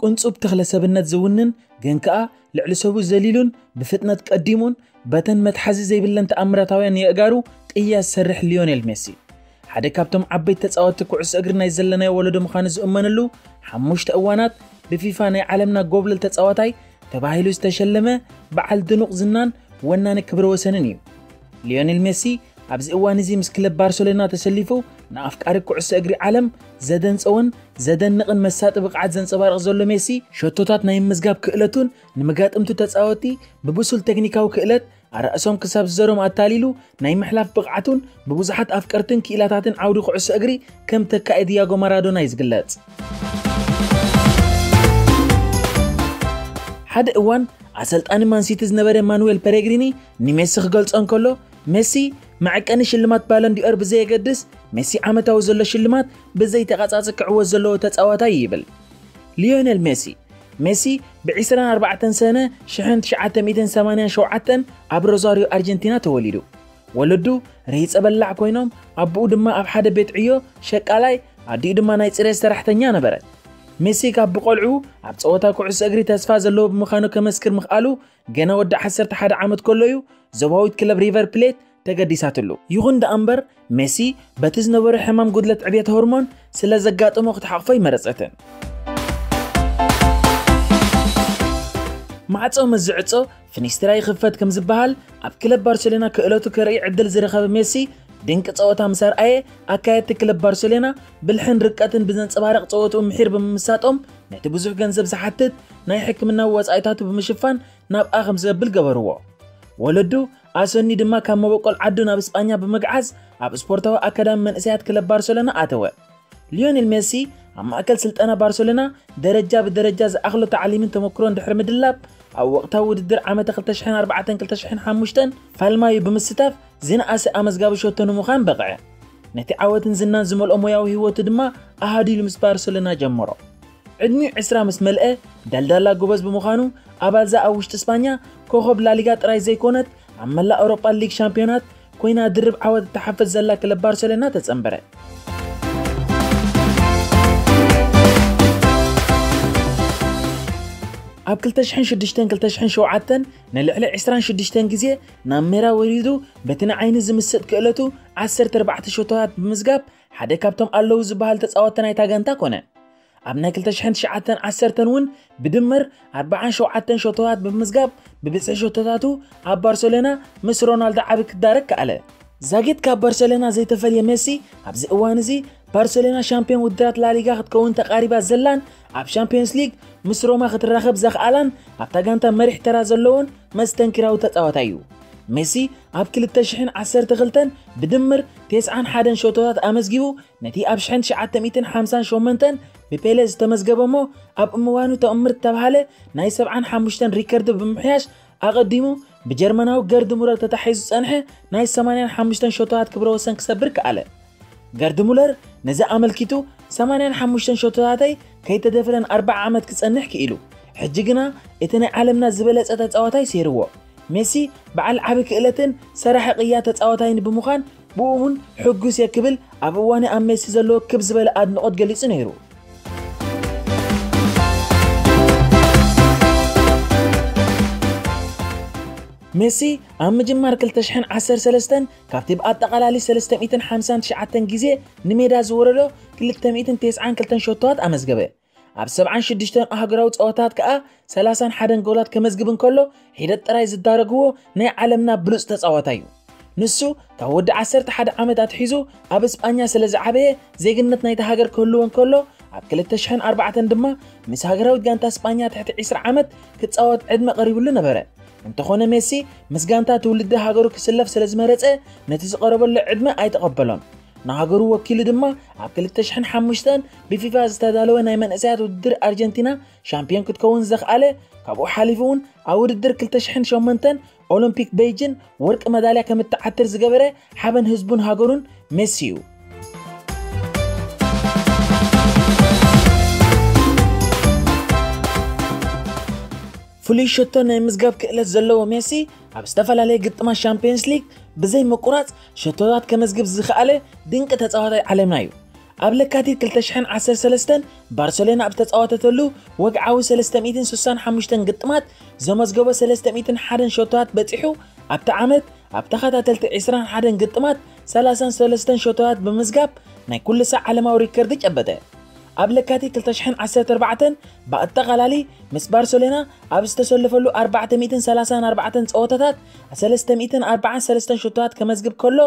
ቅንጹብ ተኽለ ሰብነት ዝውንን ግን ከኣ ልዕሊ ሰቡ ዘሊሉን ብፍጥነት ቀዲሙን በተን መትሓዚ ዘይብለን ተኣምራታውያን የእጋሩ ቅያ ዝሰርሕ ሊዮኔል ሜሲ፣ ሓደ ካብቶም ዓበይቲ ተጻወትቲ ኩዕሶ እግሪ ናይ ዘለናዮ ወለዶ ምዃኑ ዝእመነሉ፣ ሓሙሽተ እዋናት ብፊፋ ናይ ዓለምና ጎብለል ተጻዋታይ ተባሂሉ ዝተሸለመ በዓል ድኑቕ ዝናን ወናኒ ክብረ ወሰንን እዩ። ሊዮኔል ሜሲ ኣብዚ እዋን እዚ ምስ ክለብ ባርሰሎና ተሰሊፉ ንኣፍቃሪ ኩዕሶ እግሪ ዓለም ዘደንጸወን ዘደንቕን መሳጢ ብቕዓት ዘንጸባርቕ ዘሎ ሜሲ፣ ሸቶታት ናይ ምዝጋብ ክእለቱን ንመጋጥምቱ ተጻወቲ ብብሱል ቴክኒካዊ ክእለት ኣራእሶም ክሳብ ዝዘሮም ኣታሊሉ ናይ ምሕላፍ ብቕዓቱን ብብዙሓት ኣፍቀርትን ክኢላታትን ዓውዲ ኩዕሶ እግሪ ከም ተካኢ ዲያጎ ማራዶና እዩ ዝግለጽ። ሓደ እዋን ኣሰልጣኒ ማንሲቲ ዝነበረ ማኑዌል ፔሬግሪኒ ንሜሲ ክገልጾ እንከሎ፣ ሜሲ መዐቀኒ ሽልማት ባሎን ዲኦር ብዘየገድስ፣ ሜሲ ዓመታዊ ዘሎ ሽልማት ብዘይተቓጻጺ ክዕወት ዘለዎ ተጻዋታይ እዩ ይብል። ሊዮኔል ሜሲ። ሜሲ ብ ዕስራን ኣርባዕተን ሰነ ሽሕን ትሽዓተ ሚእትን ሰማንያን ሸውዓተን ኣብ ሮዛሪዮ ኣርጀንቲና ተወሊዱ። ወለዱ ረሂጸ በላዕ ኮይኖም፣ ኣቦኡ ድማ ኣብ ሓደ ቤት ዕዮ ሸቃላይ፣ ኣዲኡ ድማ ናይ ጽሬት ሰራሕተኛ ነበረት። ሜሲ ካብ ብቆልዑ ኣብ ጸወታ ኩዕሶ እግሪ ተስፋ ዘለዎ ብምዃኑ ከመስክር ምኽኣሉ፣ ገና ወዲ ዓሰርተ ሓደ ዓመት ከሎ እዩ ዞባዊት ክለብ ሪቨር ፕሌት ተገዲሳትሉ። ይኹን ደኣ እምበር፣ ሜሲ በቲ ዝነበሮ ሕማም ጉድለት ዕብየት ሆርሞን ስለ ዘጋጠሞ ክትሓቕፎ ኣይመረጸትን። ማዕጾ ምስ ዝዕጾ ፍኒስትራ ይኽፈት ከም ዝበሃል፣ ኣብ ክለብ ባርሴሎና ክእለቱ ከርኢ ዕድል ዝረኸበ ሜሲ፣ ድንቂ ጸወታ ምስ ኣርኣየ፣ ኣካየድቲ ክለብ ባርሴሎና ብልሕን ርቀትን ብዘንጸባርቕ ጸወትኡ ምሒር ብምምሳጦም፣ ነቲ ብዙሕ ገንዘብ ዝሓትት ናይ ሕክምናዊ ወጻኢታቱ ብምሽፋን ናብኣ ከም ዘብል ገበርዎ። ወለዱ ኣሰኒ ድማ ካብ መበቆል ዓዱ ናብ እስጳኛ ብምግዓዝ፣ ኣብ ስፖርታዊ ኣካዳሚ መንእሰያት ክለብ ባርሴሎና ኣተወ። ሊዮኔል ሜሲ ኣብ ማእከል ስልጠና ባርሴሎና ደረጃ ብደረጃ ዝኣኽሎ ታዕሊምን ተመክሮን ድሕሪ ምድላብ፣ ኣብ ወቕታዊ ውድድር ዓመተ ክልተ ሽሕን ኣርባዕተን ክልተ ሽሕን ሓሙሽተን ፋልማዩ ብምስታፍ ዝነኣሰ ኣመዝጋቢ ሸቶ ንምዃን በቕዐ። ነቲ ዓወትን ዝናን ዝመልኦ ሞያዊ ህይወቱ ድማ ኣሃዲሉ ምስ ባርሴሎና ጀመሮ። ዕድሚኡ ዕስራ ምስ መልአ፣ ደልዳላ ጎበዝ ብምዃኑ፣ ኣባልዛ ኣብ ውሽጢ እስጳኛ ኮኸብ ላሊጋ ጥራይ ዘይኮነት፣ ኣብ መላእ ኣውሮጳ ሊግ ሻምፒዮናት ኮይና ድርብ ዓወት እትሓፍስ ዘላ ክለብ ባርሴሎና ተጸንበረ። ኣብ ክልተ ሽሕን ሽዱሽተን ክልተ ሽሕን ሸውዓተን ንልዕሊ ዕስራን ሽዱሽተን ግዜ ናብ ሜዳ ወሪዱ፣ በቲ ንዓይኒ ዝምስጥ ክእለቱ ዓሰርተ ኣርባዕተ ሸቶታት ብምዝጋብ ሓደ ካብቶም ኣለዉ ዝበሃል ተጻወትቲ ናይታ ጋንታ ኮነ። ኣብ ናይ ክልተ ሽሕን ትሽዓተን ዓሰርተን እውን ብድምር ኣርባዓን ሸውዓተን ሸቶታት ብምዝጋብ ብብዝሒ ሸቶታቱ ኣብ ባርሴሎና ምስ ሮናልዶ ዓቢ ክዳረግ ከኣለ። ዛጊት ካብ ባርሴሎና ዘይተፈልየ ሜሲ ኣብዚ እዋን እዚ ባርሴሎና ሻምፒዮን ውድድራት ላሊጋ ክትከውን ተቓሪባ ዘላን ኣብ ሻምፒዮንስ ሊግ ምስ ሮማ ክትራኸብ ዘኽኣላን ኣብታ ጋንታ መሪሕ ተራ ዘለዎን መስተንክራዊ ተጻዋታይ እዩ። ሜሲ ኣብ ክልተ ሽሕን ዓሰርተ ክልተን ብድምር ተስዓን ሓደን ሸቶታት ኣመዝጊቡ ነቲ ኣብ ሽሕን ትሽዓተ ሚእትን ሓምሳን ሸሞንተን ብፔለ ዝተመዝገበ እሞ ኣብ እምዋኑ ተኣምር ዝተባህለ ናይ ሰብዓን ሓሙሽተን ሪከርድ ብምምሕያሽ ኣቐዲሙ ብጀርመናዊ ገርድ ሙለር ተታሒዙ ዝጸንሐ ናይ ሰማንያን ሓሙሽተን ሸቶታት ክብረ ወሰን ክሰብር ከኣለ። ገርድ ሙለር ነዚ ኣመልኪቱ ሰማንያን ሓሙሽተን ሸቶታተይ ከይተደፍረን ኣርባዓ ዓመት ክጸንሕ ክኢሉ። ሕጂ ግና እቲ ናይ ዓለምና ዝበለጸ ተጻዋታይ ሰይርዎ። ሜሲ በዓል ዓቢ ክእለትን ሰራሒ ቅያ ተጻዋታይን ብምዃን ብኡ እውን ሕጉስ እየ ክብል ኣብ እዋኑ ኣብ ሜሲ ዘለዎ ክብ ዝበለ ኣድንቖት ገሊጹ ነይሩ። ሜሲ ኣብ ምጅማር ክልተ ሽሕን ዓሰርተ ሰለስተን ካብቲ ብኣጠቓላሊ ሰለስተ ሚእትን ሓምሳን ትሽዓተን ግዜ ንሜዳ ዝወረዶ ክልተ ሚእትን ተስዓን ክልተን ሸቶታት ኣመዝገበ። ኣብ ሰብዓን ሽዱሽተን ኣህጉራዊ ጸወታት ከኣ ሰላሳን ሓደን ጎላት ከመዝግብ እንከሎ፣ ሒደት ጥራይ ዝዳረግዎ ናይ ዓለምና ብሉጽ ተጻዋታይ እዩ። ንሱ ካብ ወዲ ዓሰርተ ሓደ ዓመት ኣትሒዙ ኣብ እስጳኛ ስለ ዝዓበየ፣ ዜግነት ናይታ ሃገር ክህልዎ እንከሎ፣ ኣብ ክልተ ሽሕን ኣርባዕተን ድማ ምስ ሃገራዊት ጋንታ እስጳኛ ትሕቲ ዕስራ ዓመት ክጻወት ዕድመ ቀሪብሉ ነበረ። እንተኾነ ሜሲ ምስ ጋንታ ትውልዲ ሃገሩ ክስለፍ ስለ ዝመረጸ፣ ነቲ ዝቐረበሉ ዕድመ ኣይተቐበሎን። ንሃገሩ ወኪሉ ድማ ኣብ ክልተ ሽሕን ሓሙሽተን ብፊፋ ዝተዳለወ ናይ መንእሰያት ውድድር ኣርጀንቲና ሻምፒዮን ክትከውን ዘኽኣለ፣ ካብኡ ሓሊፉ እውን ኣብ ውድድር ክልተ ሽሕን ሸሞንተን ኦሎምፒክ ቤይጅን ወርቂ መዳልያ ከም እትዓትር ዝገበረ ሓበን ህዝቡን ሃገሩን ሜሲ እዩ። ፍሉይ ሸቶ ናይ ምዝጋብ ክእለት ዘለዎ ሜሲ ኣብ ዝተፈላለየ ግጥማት ሻምፒዮንስ ሊግ ብዘይ ምቁራጽ ሸቶታት ከመዝግብ ዝኸኣለ ድንቂ ተጻዋታይ ዓለምና እዩ። ኣብ ለካቲት ክልተ ሽሕን ዓሰርተ ሰለስተን ባርሰሎና ኣብ ዝተጻወተተሉ ወግዓዊ ሰለስተ ሚእትን ስሳን ሓሙሽተን ግጥማት ዘመዝገቦ ሰለስተ ሚእትን ሓደን ሸቶታት በጺሑ፣ ኣብቲ ዓመት ኣብ ተኸታተልቲ ዕስራን ሓደን ግጥማት ሰላሳን ሰለስተን ሸቶታት ብምዝጋብ ናይ ኩሉ ሳዕ ዓለማዊ ሪከርድ ጨበጠ። ኣብ ለካቲት ክልተ ሽሕን ዓሰርተ ኣርባዕተን ብኣጠቓላሊ ምስ ባርሰሎና ኣብ ዝተሰለፈሉ ኣርባዕተ ሚእትን ሰላሳን ኣርባዕተን ጸወታታት ሰለስተ ሚእትን ኣርባዓን ሰለስተን ሸቶታት ከመዝግብ ከሎ፣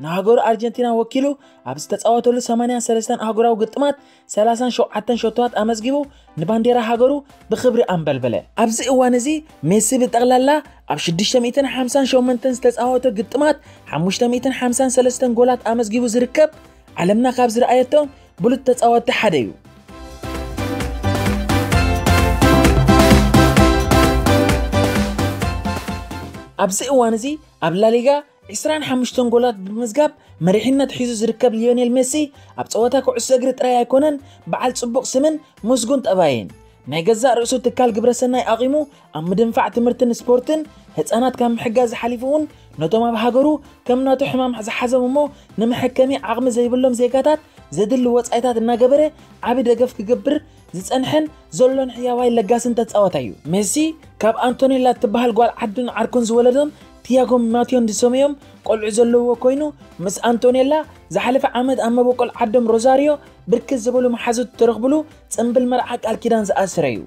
ንሃገሩ ኣርጀንቲና ወኪሉ ኣብ ዝተጻወተሉ ሰማንያን ሰለስተን ኣህጉራዊ ግጥማት ሰላሳን ሸውዓተን ሸቶታት ኣመዝጊቡ ንባንዴራ ሃገሩ ብኽብሪ ኣንበልበለ። ኣብዚ እዋን እዚ ሜሲ ብጠቕላላ ኣብ ሽዱሽተ ሚእትን ሓምሳን ሸሞንተን ዝተጻወተ ግጥማት ሓሙሽተ ሚእትን ሓምሳን ሰለስተን ጎላት ኣመዝጊቡ ዝርከብ ዓለምና ካብ ዝረኣየቶም ብሉጽ ተጻወትቲ ሓደ እዩ። ኣብዚ እዋን እዚ ኣብ ላሊጋ ዕስራን ሓሙሽተን ጎላት ብምዝጋብ መሪሕነት ሒዙ ዝርከብ ሊዮኔል ሜሲ ኣብ ጸወታ ኩዕሶ እግሪ ጥራይ ኣይኮነን በዓል ጽቡቕ ስምን ምስጉን ጠባይን። ናይ ገዛእ ርእሱ ትካል ግብረሰናይ ኣቒሙ ኣብ ምድንፋዕ ትምህርትን ስፖርትን ህጻናት ካብ ምሕጋዝ ሓሊፉ እውን ነቶም ኣብ ሃገሩ ከም ናቱ ሕማም ዝሓዞም እሞ ንመሐከሚ ዓቕሚ ዘይብሎም ዜጋታት ዘድሊ ወጻኢታት እናገበረ ዓቢ ደገፍ ክገብር ዝጸንሐን ዘሎን ሕያዋይ ለጋስን ተጻዋታይ እዩ። ሜሲ ካብ ኣንቶኔላ እትበሃል ጓል ዓዱን ዓርኩን ዝወለዶም ቲያጎ ማትዮን ዝሰመዮም ቆልዑ ዘለዎ ኮይኑ ምስ ኣንቶኔላ ዝሓለፈ ዓመት ኣብ መበቆል ዓዶም ሮዛሪዮ ብርክት ዝበሉ መሓዙት ተረኽብሉ ጽምብል መርዓ ቃል ኪዳን ዝኣሰረ እዩ።